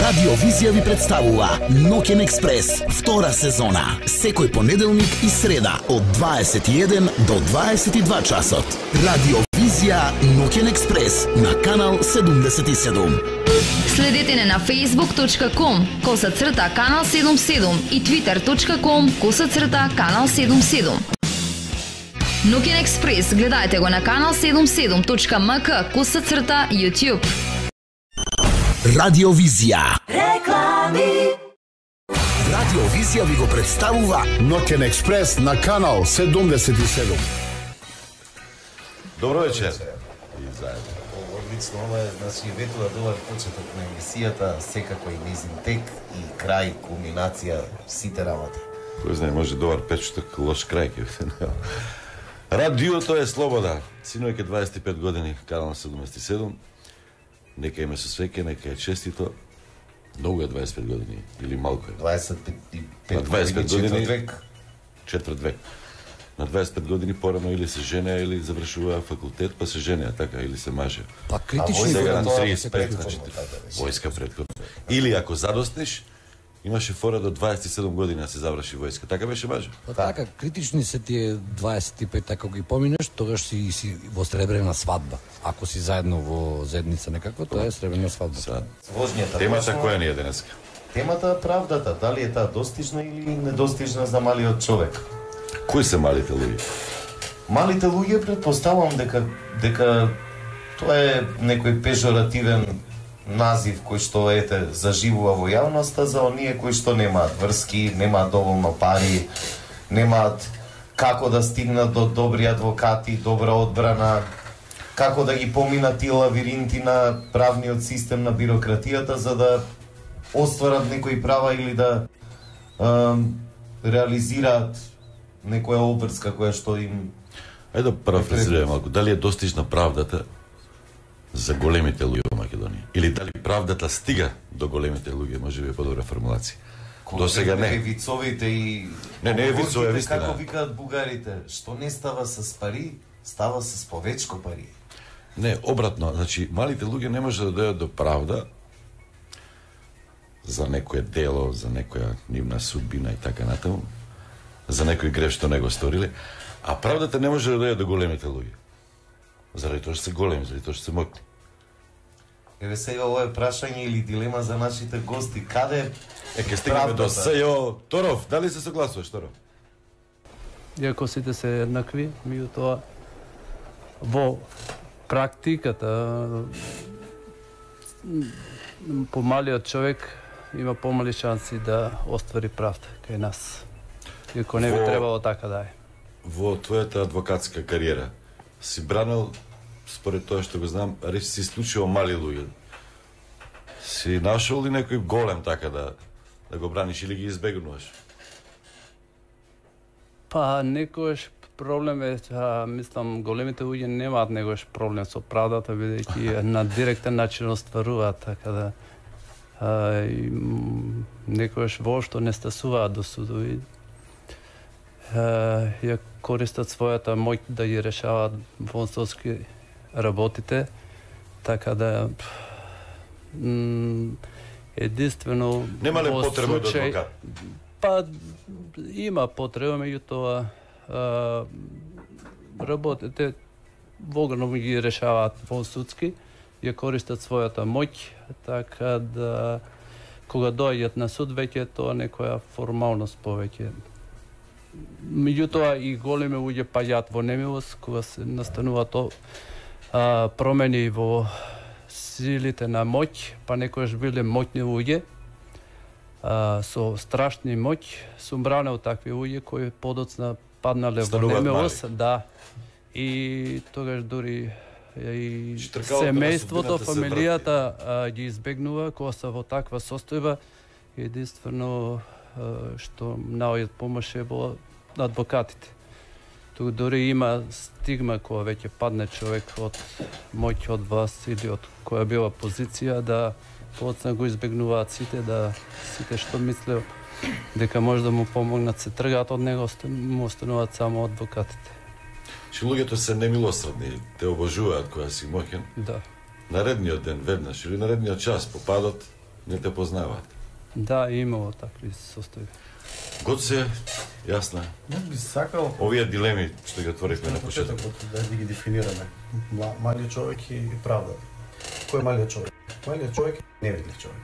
Радио Визија ви представува Ноќен експрес, втора сезона. Секој понеделник и среда од 21 до 22 часот. Радио Визија Ноќен експрес на канал 77. Следете не на facebook.com/канал 77 и twitter.com/канал 77. Ноќен експрес гледајте го на канал 77.mk/YouTube. Радио Визија. Реклами. Радио Визија ви го представува Ноќен експрес на канал 77. Добро вечер. И заедно. Одлично, ова е, значи, ветува добар почеток на емисијата, секако и низин тек и крај, кулминација, сите работи. Кој знае, може добар почеток, лош крај ќе биде. Радиото е слобода. Синојке 25 години, канал 77. Нека име со свеќе, нека е честито. Многу е 25 години, или малку е. 25 години, четврт век. На 25 години порано или се женеа, или завршуваа факултет, па се женеа, така, или се мажеа. Па критично Сега на тоа 35, значи, војска предходно. Или ако задостиш, имаше фора до 27 години да се заврши војска. Така беше маже? Па така, критични се тие 25, ако ги поминеш, тогаш си во сребрена свадба. Ако си заедно во заедница некаква, тоа е сребрена свадба. Возњата. Темата која ни е денеска? Темата е правдата, дали е таа достижна или недостижна за малиот човек. Кои се малите луѓе? Малите луѓе претпоставувам дека тоа е некој пежоративен назив кој што заживува во јавноста за оние кои што немаат врски, немаат доволно пари, немаат како да стигнат до добри адвокати, добра одбрана, како да ги поминат тие лавиринти на правниот систем на бирократијата за да остварат некои права или да реализираат некоја обврска која што им... Ајде да парафразираме малку. Дали е достижна правдата за големите луѓе во Македонија? Или дали правдата стига до големите луѓе? Може би е подобра формулација. До сега не. Вицовите и... Не е вицове, вистина. Како викаат бугарите, што не става с пари, става с повечко пари. Не, обратно. Значи, малите луѓе не може да дојдат до правда за некое дело, за некоја нивна судбина и така натаму, за некој грев што не го сториле, а правдата не може да дојде до големите луѓе. Заради тоа што се големи, заради тоа што се мокни. Еве сега ова е прашање или дилема за нашите гости. Каде Ке стигнеме до СЈО. Торов, дали се согласуваш, Торов? Иако сите се еднакви, меѓутоа во практиката помалиот човек има помали шанси да оствари правда кај нас. Иако не би требало така да е. Во твојата адвокатска кариера си бранил, според тоа што го знам, речи си исклучиво мали луѓе. Си нашол ли некој голем така да го браниш или ги избегнуваш? Па некојаш проблем е, мислам, големите луѓе немаат некојаш проблем со правдата, бидејќи на директен начин остваруваат, така да некојаш воопшто не стасуваат до судови. Ја користат својата моќ да ги решаваат вонсовски работите, така да единствено нема ли потреба од адвокат? Па има потреба, меѓутоа работите вогано ги решаваат вонсудски, ја користат својата моќ, така да кога доаѓат на суд веќе тоа некоја формалност повеќе. Меѓутоа и големи луѓе паѓаат во немилост кога се настанува промени во силите на моќ, па некојаш биле моќни луѓе со страшни моќ, сум бранел такви луѓе кои подоцна паднале во немилост, да. И тогаш дури и семејството, фамилијата ги избегнува кога се во таква состојба. Единствено што наоѓаат помош е во адвокатите. Тук дури има стигма кога веќе падне човек од моќ од власт или од која била позиција да подоцна го избегнуваат сите што мислео дека може да му помогнат, се тргаат од него, му остануваат само адвокатите. Че луѓето се немилосредни, те обожуваат кога си моќен. Да. Наредниот ден веднаш или наредниот час попадот не те познаваат. Да, имало такви состојби. Гоце, јасно. Јас би сакал Овие дилеми што ги отворивме на почеток. да ги дефинираме. Малиот човек и правдата. Кој е малиот човек? Малиот човек е невидлив човек.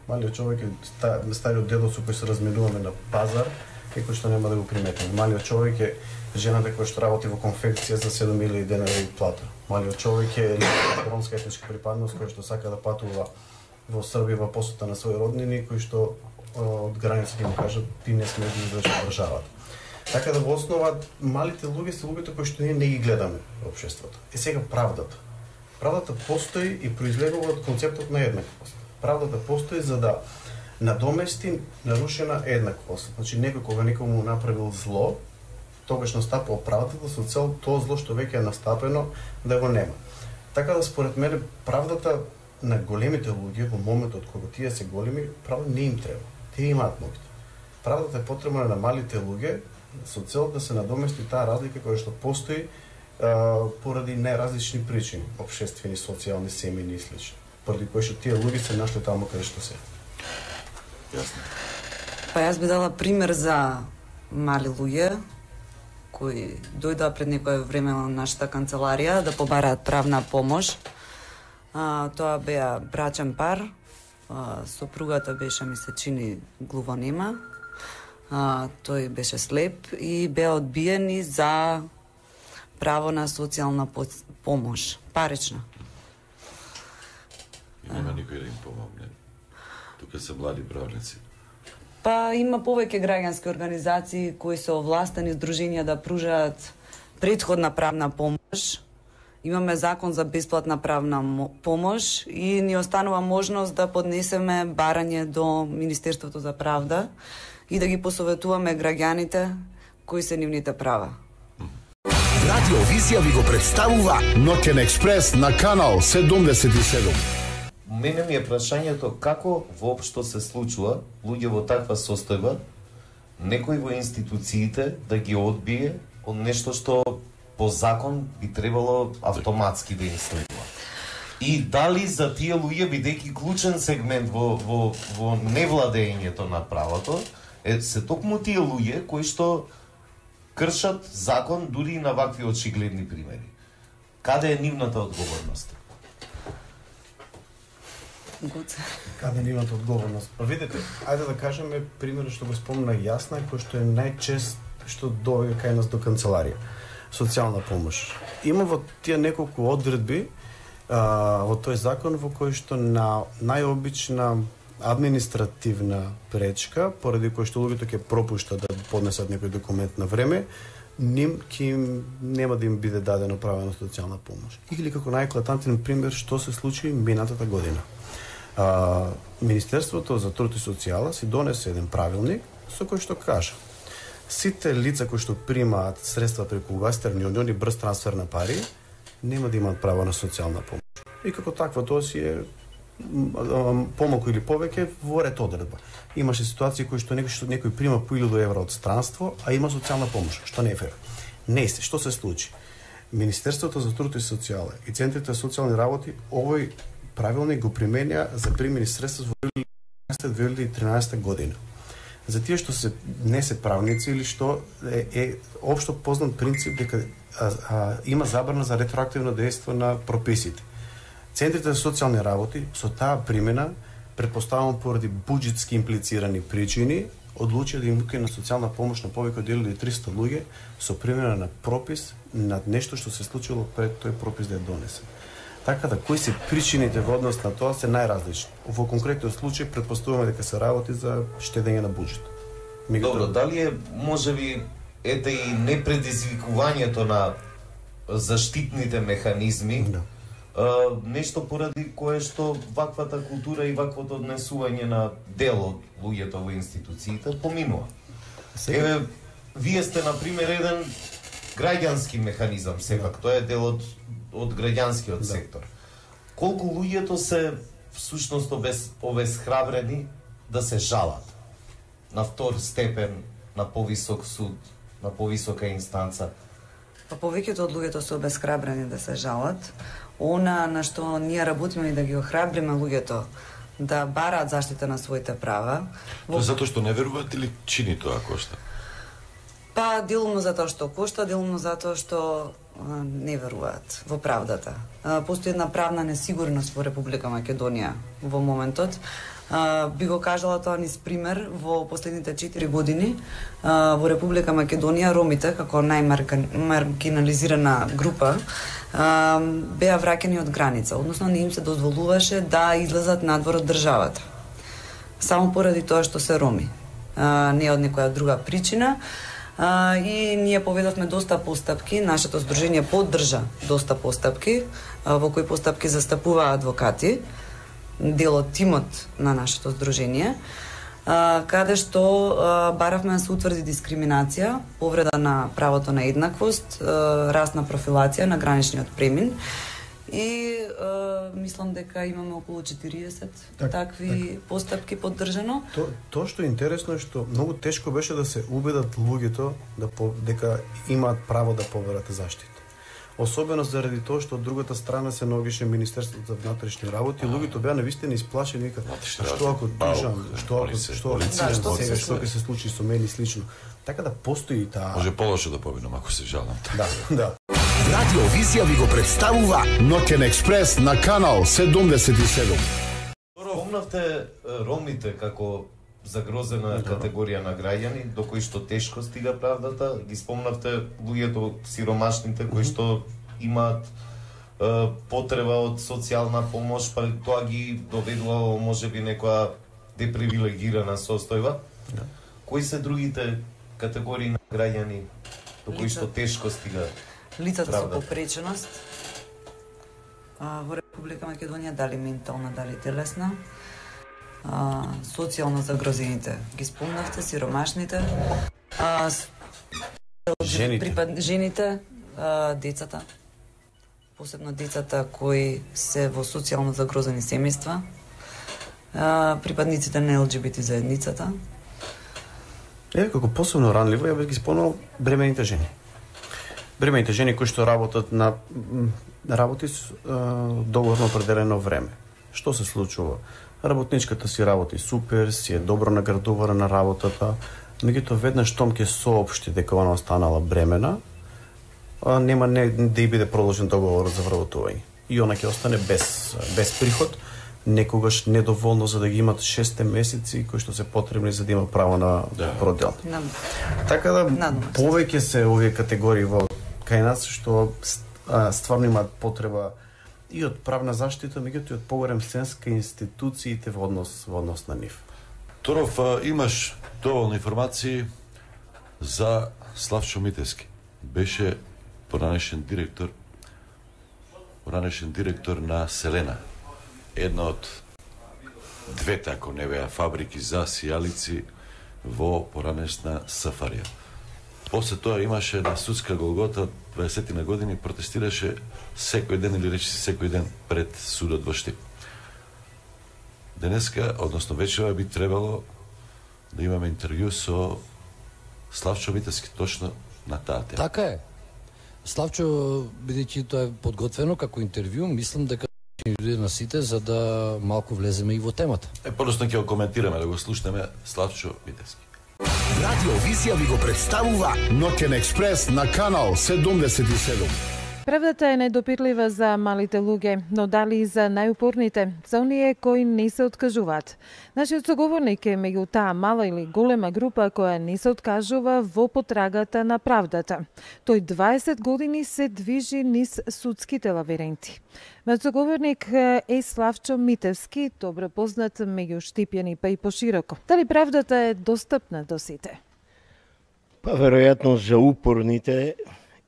Малиот човек е стариот дедо со кој се разменуваме на пазар, кој што нема да го приметиме. Малиот човек е жената која што работи во конфекција за 7.000 денари плата. Малиот човек е ромска етничка припадност кој што сака да патува во Србија во посета на своји роднини, кои што од граница ќе му кажат ти не смееш да излезеш од државата. Така да во основа малите луѓе се луѓето кои што ние не ги гледаме во општеството. Е сега правдата. Правдата постои и произлегува од концептот на еднаквост. Правдата постои за да надомести нарушена еднаквост. Значи некој кога некому направил зло, тогаш настапува правдата со цел тоа зло што веќе е настапено да го нема. Така да според мене правдата на големите луѓе во моментот кога тие се големи, правда не им треба. Тие имаат моќта. Правдата е потребна на малите луѓе со цел да се надомести таа разлика која што постои поради најразлични причини, општествени, социјални, семејни и слични. Поради кои што тие луѓе се нашли таму каде што се. Јасно. Па јас би дала пример за мали луѓе кои дојдоа пред некое време во нашата канцеларија да побараат правна помош. Тоа беа брачен пар, сопругата беше, ми се чини, глувонема, тој беше слеп и беа одбиени за право на социјална помош, парична. И нема никој да им помогне. Тука се млади правници. Па има повеќе граѓански организации кои се овластени здруженија да пружаат претходна правна помош. Имаме закон за бесплатна правна помош и ни останува можност да поднесеме барање до Министерството за правда и да ги посоветуваме граѓаните кои се нивните права. Радио Визија ви го представува Ноќен експрес на канал 77. Мене ми е прашањето како воопшто се случува луѓе во таква состојба, некој во институциите да ги одбие од нешто што по закон би требало автоматски да им следува. И дали за тие луѓе, бидејќи клучен сегмент во невладењето на правото, се токму тие луѓе кои што кршат закон дури и на вакви очигледни примери. Каде е нивната одговорност? Каде нивната одговорност? Па видете, ајде да кажеме примерот што го спомна Јасна, кој што е најчест што доаѓа кај нас до канцеларија. Социјална помош. Има во тие неколку одредби во тој закон во кој што на најобична административна пречка, поради кој што луѓето ќе пропуштат да поднесат некој документ на време, нема да им биде дадено право на социјална помош. Или како најеклатантен пример што се случи минатата година. Министерството за труд и социјала си донесе еден правилник со кој што кажа сите лица кои што примаат средства преку Western Union и брз трансфер на пари нема да имаат право на социјална помош. И како таква тоа си е помалку или повеќе во ред одредба. Имаше ситуации кои што некој прима по 1000 евра од странство, а има социјална помош, што не е фер. Не се, што се случи? Министерството за труд и социјала и центрите за социјални работи овој правилник го применја за примени средства во 2013 година. За тие што не се правници или што е општо познат принцип дека има забрана за ретроактивно дејство на прописите. Центрите за социјални работи со таа примена, претпоставувам поради буџетски имплицирани причини, одлучија да им укина социјална помош на повеќе од 1300 луѓе со примена на пропис над нешто што се случило пред тој пропис да е донесен. Така да, кои се причините во однос на тоа се најразлични. Во конкретниот случај претпоставуваме дека се работи за штедење на буџет. Добро, дали е можеби ете и непредизвикувањето на заштитните механизми, нешто поради кое што ваквата култура и ваквото однесување на дел од луѓето во институциите поминува. Еве, вие сте на пример еден граѓански механизам, сепак тоа е дел од граѓанскиот сектор. Колку луѓето се всушност обесхрабрени да се жалат на втор степен, на повисок суд, на повисока инстанца? Па повеќето од луѓето се обесхрабрени да се жалат. Она на што ние работиме и да ги охрабриме луѓето да бараат заштита на своите права. Тоа затоа што не веруваат или чини тоа кошта? Па, делумно затоа што кошта, делумно затоа што не веруваат во правдата. Постои една правна несигурност во Република Македонија во моментот. Би го кажала тоа низ пример, во последните 4 години во Република Македонија ромите, како најмаргинализирана група, беа враќани од граница, односно не им се дозволуваше да излезат надвор од државата. Само поради тоа што се роми. Не од некоја друга причина. И ние поведовме доста постапки, нашето здружение поддржа доста постапки, во кои постапки застапуваа адвокати, дел од тимот на нашето здружение, каде што баравме да се утврди дискриминација, повреда на правото на еднаквост, расна профилација на граничниот премин и мислам дека имаме околу 40 такви постапки поддржано. Тоа што е интересно е што многу тешко беше да се убедат луѓето дека имаат право да поберат заштита. Особено заради тоа што од другата страна се наоѓаше Министерството за внатрешни работи, луѓето беа навистина исплашени, викаат: што ако тужам, што ќе се случи со мене и слично. Така да постои таа. Може полошо да победам ако се жалам. Да. Радио Визија ви го представува Ноќен експрес на канал 77. Спомнавте ромите како загрозена категорија на граѓани до кои што тешко стига правдата, ги спомнавте луѓето сиромашните кои што имаат потреба од социјална помош, па тоа ги доведува во можеби некоја депривилегирана состојба. Кои се другите категории на граѓани до кои што тешко стига лицата со попреченост во Република Македонија, дали ментална, дали телесна, социјално загрозените, ги спомнавте, сиромашните, жените, децата, посебно децата кои се во социјално загрозени семејства, припадниците на ЛГБТ заедницата. Како посебно ранливо, ја би ги спомнал бремените жени. Бремените жени кои што работат на работи договорно определено време. Што се случува? Работничката си работи супер, си е добро наградувана на работата, меѓутоа веднаш штом ќе соопшти дека она останала бремена, нема да и биде продолжен договор за вработување. И она ќе остане без приход, некогаш недоволно за да ги имат 6 месеци кои што се потребни за да има право на продел. Така да повеќе се овие категории во кај нас што стварно имаат потреба и од правна заштита, меѓутоа и од поголем сенс кај институциите во однос на нив. Торов, имаш доволно информации за Славчо Митевски. Беше поранешен директор на Селена. Една од двете, ако не беа, фабрики за сијалици во поранешна Сафарија. После тоа имаше на судска голгота 20 на години, протестираше секој ден или речиси секој ден пред судот во Штип. Денеска, односно вечера, би требало да имаме интервју со Славчо Митевски точно на таа тема. Така е. Славчо, бидејќи тоа е подготвено како интервју, мислам дека ќе ни дојде на сите за да малку влеземе и во темата. Подоцна ќе го коментираме, да го слушнеме Славчо Митевски. Радио Визија ви го представува Ноќен експрес на канал 77. Правдата е недопирлива за малите луѓе, но дали и за најупорните, за оние кои не се откажуваат. Нашиот соговорник е меѓу таа мала или голема група која не се откажува во потрагата на правдата. Тој 20 години се движи низ судските лабиринти. Мојот соговорник е Славчо Митевски, добро познат меѓу Штипјани па и пошироко. Дали правдата е достапна до сите? Па веројатно за упорните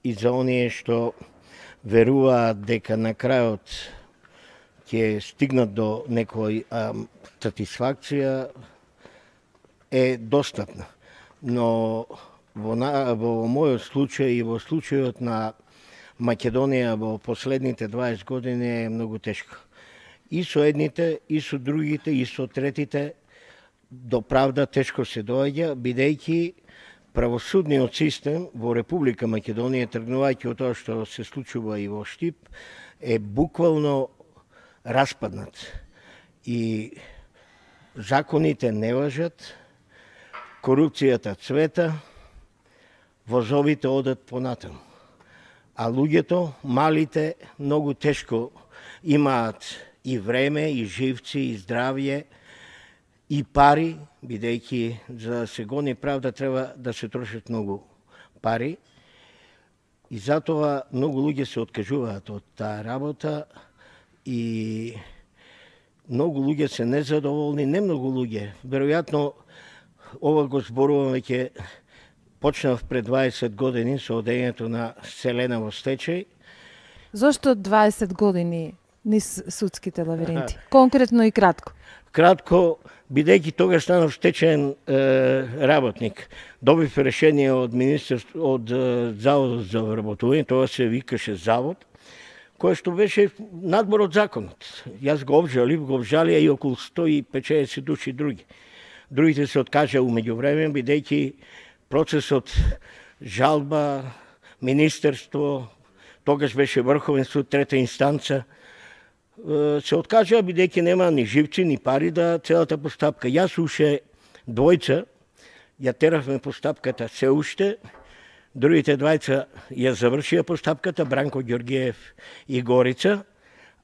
и за оние што веруваат дека на крајот ќе стигнат до некој сатисфакција е достапна. Но во мојот случај и во случајот на Македонија во последните 20 години е многу тешко. И со едните, и со другите, и со третите до правда тешко се доаѓа, бидејќи правосудниот систем во Република Македонија, тргнувајќи од тоа што се случува и во Штип, е буквално распаднат. И законите не важат, корупцијата цвета, возовите одат понатаму. А луѓето, малите, многу тешко имаат и време, и живци, и здравје, и пари, бидејќи за да се гони правда треба да се трошат многу пари. И затоа многу луѓе се откажуваат од таа работа и многу луѓе се незадоволни, не многу луѓе. Веројатно ова го зборувам веќе почнав пред 20 години со одењето на Селена во стечај. Зошто 20 години низ судските лабиринти? Конкретно и кратко. Кратко, бидејќи тогаш станав стечаен работник. Добив решение од Министерство, од Заводот за вработување, тоа се викаше Завод, кој што беше надбор од законот. Јас го обжалија и околу 150 души други. Другите се откажа умеѓу време, бидејќи процесот жалба, Министерство, тогаш беше Врховен суд, трета инстанца, се откажа бидејќи нема ни живци, ни пари да целата постапка. Јас уште двојца ја теравме постапката се уште, другите двајца ја завршија постапката, Бранко Ѓоргиев и Горица,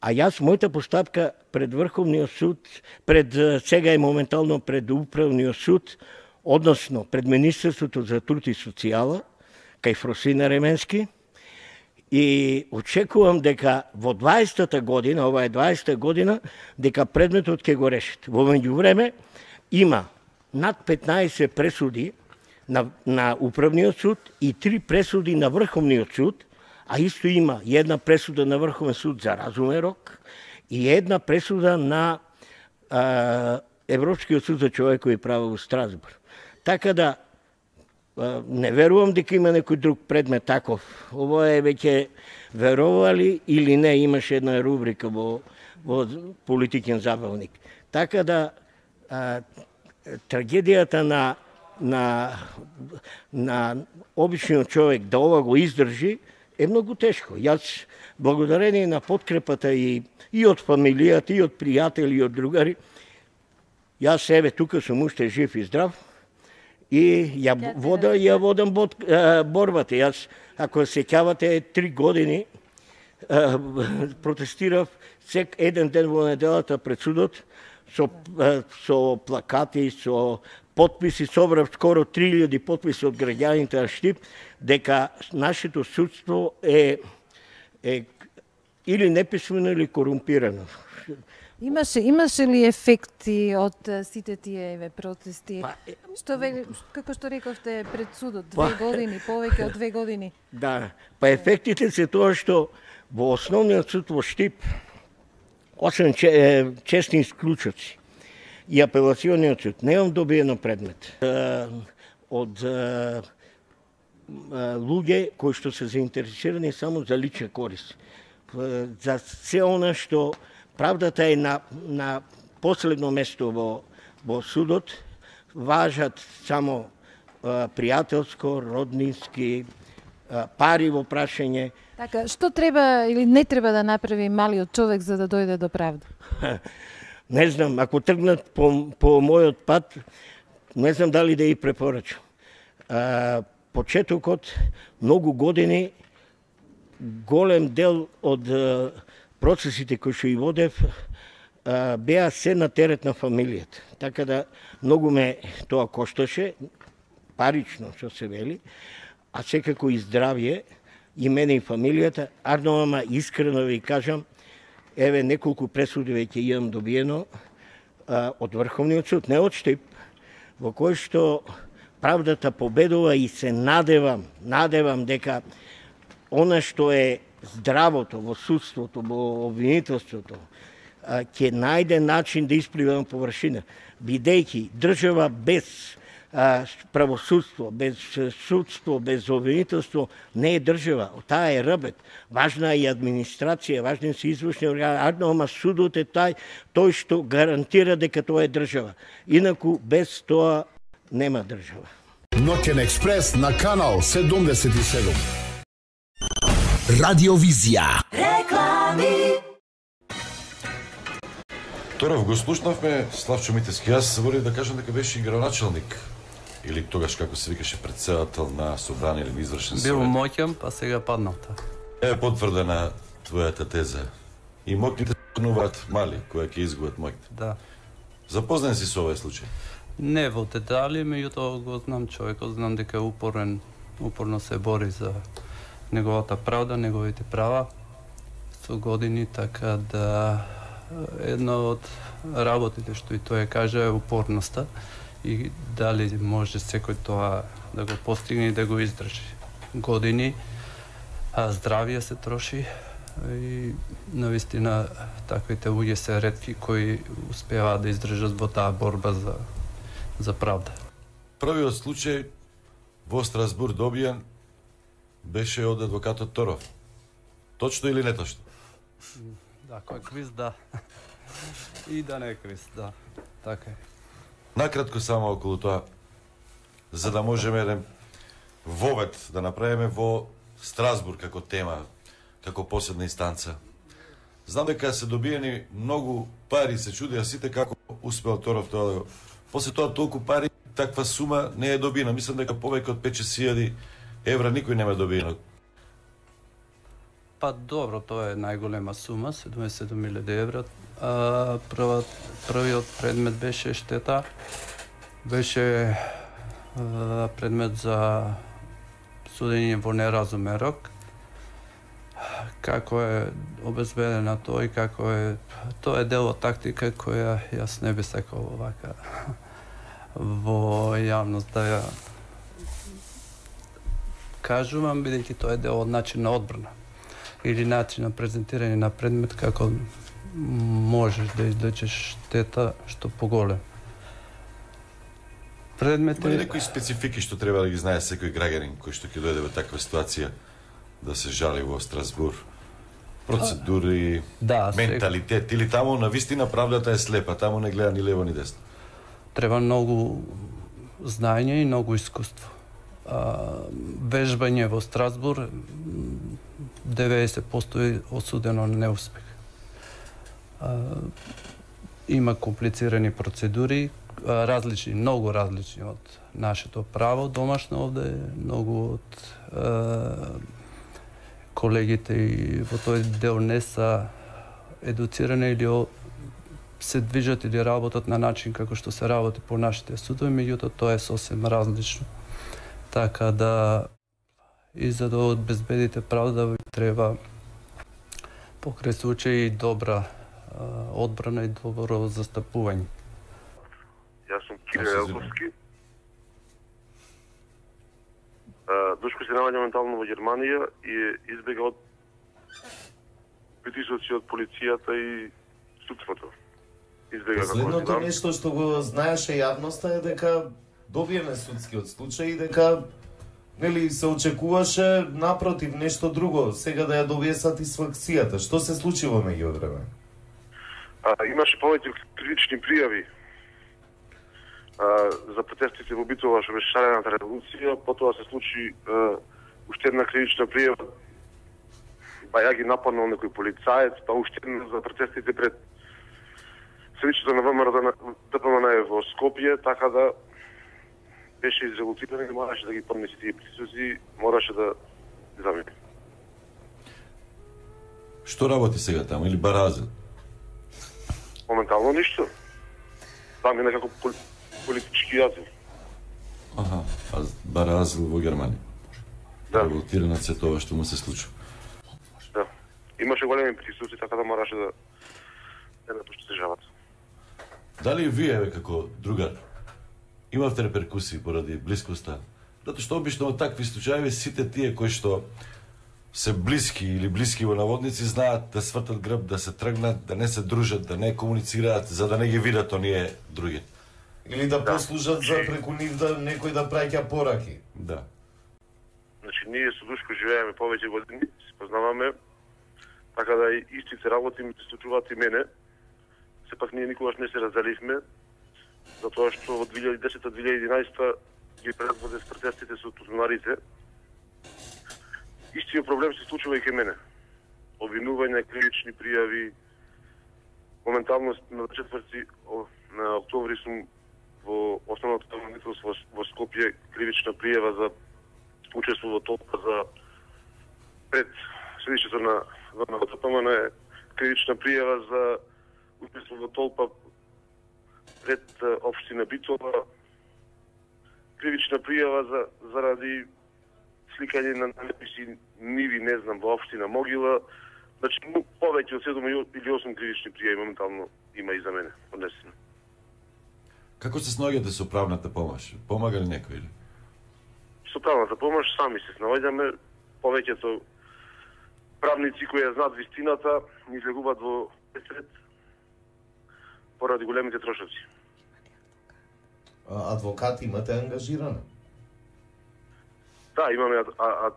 а јас мојата постапка пред Врховниот суд, сега е моментално пред Управниот суд, односно пред Министерството за труд и социјала, кај Фросина Ременски, и очекувам дека во 20-та година, ова е 20-та година, дека предметот ќе го решат. Во меѓувреме има над 15 пресуди на Управниот суд и 3 пресуди на Врховниот суд, а исто има една пресуда на Врховен суд за разумен рок и една пресуда на Европскиот суд за човекови права во Страсбург. Така да не верувам дека има некој друг предмет таков. Ово е веќе верували или не, имаше една рубрика во Политикен забавник. Така да трагедијата на обичниот човек да ова го издржи е многу тешко. Јас, благодарение на подкрепата и од фамилијата, и од пријатели, и од другари, јас еве тука сум уште жив и здрав, и ја водам борбата. Јас, ако се сеќавате, 3 години протестирав еден ден во неделата пред судот со плакати, со потписи, собрав скоро 3000 потписи од граѓаните на Штип, дека нашето судство е или неписмено или корумпирано. Имаше ли ефекти од сите тие протести? Како што рековте пред судот, 2 години, повеќе од 2 години? Да, ефектите се тоа што во основниот суд во Штип, освен честни исклучоци и апелациониот суд, немам добиено предмет од луѓе кои што се заинтересирани само за лична корист. За се она што правдата е на последно место во судот, важат само пријателско, роднински, пари во прашање. Така, што треба или не треба да направи малиот човек за да дојде до правда? Не знам, ако тргнат по мојот пат, не знам дали да и препорачам. Почетокот, многу години, голем дел од процесите кои што и водев беа се на терет на фамилијата. Така да многу ме тоа кошташе, парично што се вели, а секако и здравје и мене и фамилијата. Арно, ама искрено ви кажам, еве неколку пресуди веќе имам добиено од Врховниот суд, не од Штип, во кој што правдата победува и се надевам дека она што е здравото во судството, во обвинителството, ќе најде начин да исплива на површина, бидејќи држава без правосудство, без судство, без обвинителство не е држава. Таа е рбет. Важна е и администрација, важни се извршни органи, ама судот е тој што гарантира дека тоа е држава. Инаку без тоа нема држава. Ноќен експрес на канал 77. Радиовизија. Реклами. Торов го слушнавме, Славчо Митевски. Јас заборив да кажам дека беше и градоначелник. Или тогаш, како се викаше, председател на собрание или извршен совет. Бил моќен, па сега паднал. Е потврдена твојата теза. И моќните стануваат мали, кои ќе изгубат моќите. Да. Запознан си со овој случај? Не во детали, меѓутоа го знам човекот, знам дека е упорно се бори за неговата правда, неговите права со години, така да една од работите што и тој кажа е упорноста и дали може секој тоа да го постигне и да го издржи. Години, здравје се троши и навистина таквите луѓе се ретки кои успеваат да издржат во таа борба за правда. Првиот случај во Страсбур добиен беше од адвокатот Торов. Точно или неточно? Да, кој квиз, да. И да не е квиз, да. Така е. Накратко само околу тоа, за да можеме еден вовед да направиме во Страсбур како тема, како последна инстанца. Знам дека се добиени многу пари, се чудеа сите како успел Торов тоа да го... После тоа толку пари, таква сума не е добиена. Мислам дека повеќе од 5-6 евра никој нема добиено. Па добро, тоа е најголема сума, 77.000 евра. Првиот предмет беше штета, беше предмет за судење во неразумен рок. Како е обезбедена тоа и како е... Тоа е дел од тактика која јас не би сакал овака во јавност да ја кажувам, бидејќи тоа е дел од начин на одбрана или начин на презентирање на предмет како можеш да извлечеш штета што поголем. Предмет е... Има некои специфики што треба да ги знае секој граѓанин кој што ќе дојде во таква ситуација да се жали во Страсбур? Процедури, да, менталитет, или таму навистина правдата е слепа, таму не гледа ни лево ни десно? Треба многу знаење и многу искуство. Вежбање во Страсбур 90% е осудено на неуспех. Има комплицирани процедури, различни, многу различни од нашето право домашно овде, многу од колегите и во тој дел не са едуцирани или се движат или работат на начин како што се работи по нашите судови, меѓутоа тоа е сосем различно. Така да и за да обезбедите правда ви треба покрај случај добра одбрана и добро застапување. Јас сум Кире Елковски. Душко се наоѓа моментално во Германија и избега од притисоци од полицијата и судството. Избега како последното нешто што го знаеше јавноста е дека добиеме судскиот случај и дека нели се очекуваше напротив нешто друго, сега да ја добие сатисфакцијата. Што се случи во меѓувреме? Имаше повеќе критични пријави за протестите во Битола што беше шарената револуција, потоа се случи уште една критична пријава, па ја ги нападнал некој полицаец, па уште една за протестите пред седишето на ВМРО ДПМН во Скопје, така да беше изреволтиран и мораше да ги поднесе тие присузи, мораше да замине. Што работи сега таму или баразил? Моментално ништо. Там е некако политички јазил. Аха, а баразил во Германија. Да. Револтиран се тоа што му се случи. Да. Имаше големи присузи, така да мораше да не напушти државата. Дали вие како другар имавте реперкусии поради блискоста? Затоа што обично во такви случаи сите тие кои што се блиски или блиски во наводници знаат да свртат грб, да се тргнат, да не се дружат, да не комуницираат, за да не ги видат оние други. Или да послужат за преку нив да некој да праќа пораки. Да. Значи, ние со Душко живееме повеќе години, се познаваме, така да и истите работи ми се случуваат и мене. Сепак ние никогаш не се разделивме, затоа што во 2010-2011 ги предводе с протестите со тузунарите. Истиот проблем се случува и кај мене. Обвинување, кривични пријави, моментално на 4 на октомври сум во основното правобранителство во Скопје кривична пријава за учество во толпа за пред седишето на ВНПМН е кривична пријава за учество во толпа пред општина Битола, кривична пријава заради сликање на надписи ниви, не знам, во општина Могила. Значи, повеќе од 7 или 8 кривични пријави моментално има и за мене поднесено. Како се снаоѓате со правната помош? Помага ли некој или? Со правната помош сами се снаоѓаме, повеќето правници кои ја знаат вистината ни излегуваат во пресред поради големите трошоци. Адвокати имате ангажирани? Да, имаме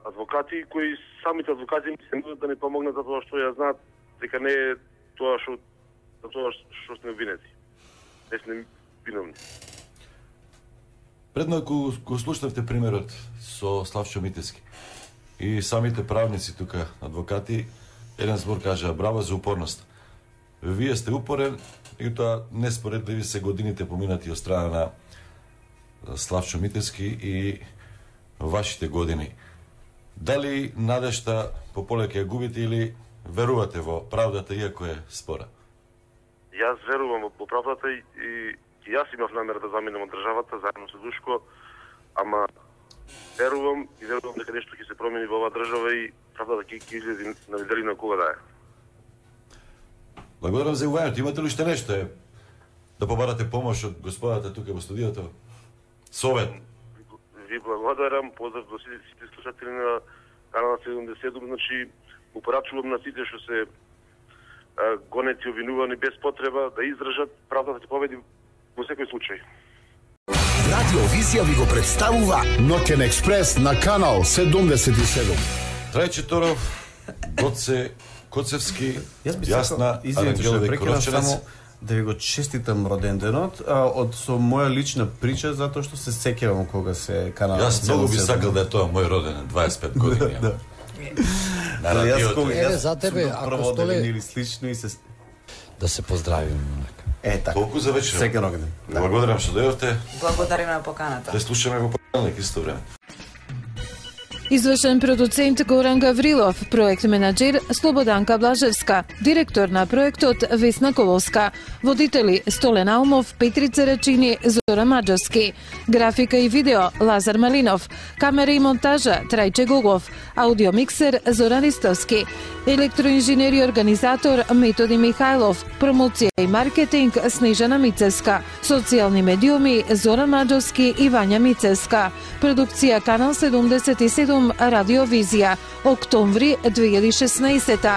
адвокати кои самите адвокати ми се нудат да ни помогнат за тоа што ја знаат дека не е тоа што сме обвинети. Не сме виновни. Предно кога слушнавте примерот со Славчо Митевски и самите правници тука, адвокати, еден збор кажа браво за упорност. Вие сте упорен и тоа неспоредливи се годините поминати од страна на Славчо Митевски и вашите години. Дали надежта пополеќе ја губите или верувате во правдата иако е спора? Јас верувам во правдата и јас имав намера да заминам од државата заедно со Душко, ама верувам дека нешто ќе се промени во оваа држава и правдата ќе излезе на виделина кога да е. Благодарам за јавувањето. Имате ли уште нешто да побарате помош од господата тука во студиото? Совет. Ви благодарам, поздрав до сите слушатели на канал 77, значи му порачувам на сите што се гонети, обвинувани без потреба да издржат, правдата ќе победи во секој случај. Радио Визија ви го представува Ноќен експрес на канал 77. Трајче Торов, Гоце Коцевски, Јас би Јасна, Ангеловик Кроченец, да ви го честитам роденденот, со моја лична прича, затоа што се сеќавам кога се канал. Јас многу би сакал да е тоа мој роденден, 25 години. Да. На радиото. За тебе, ако столе или слично и се да се поздравиме. така. Толку за вечер. Секој роденден. Благодарам што дојдовте. Благодариме на поканата. Да слушаме во понеделник исто време. Извршен продуцент Горан Гаврилов, проект менаџер Слободанка Блажевска, директор на проектот Весна Коловска, водители Столе Наумов, Петрица Рачини, Зора Маџовски, графика и видео Лазар Малинов, камера и монтажа Трајче Гогов, аудиомиксер Зоран Ристовски, електроинженер и организатор Методи Михајлов, промоција и маркетинг Снежана Мицевска, социјални медиуми Зоран Маџовски и Вања Мицевска, продукција Канал 77 Радио Визија, октомври 2016.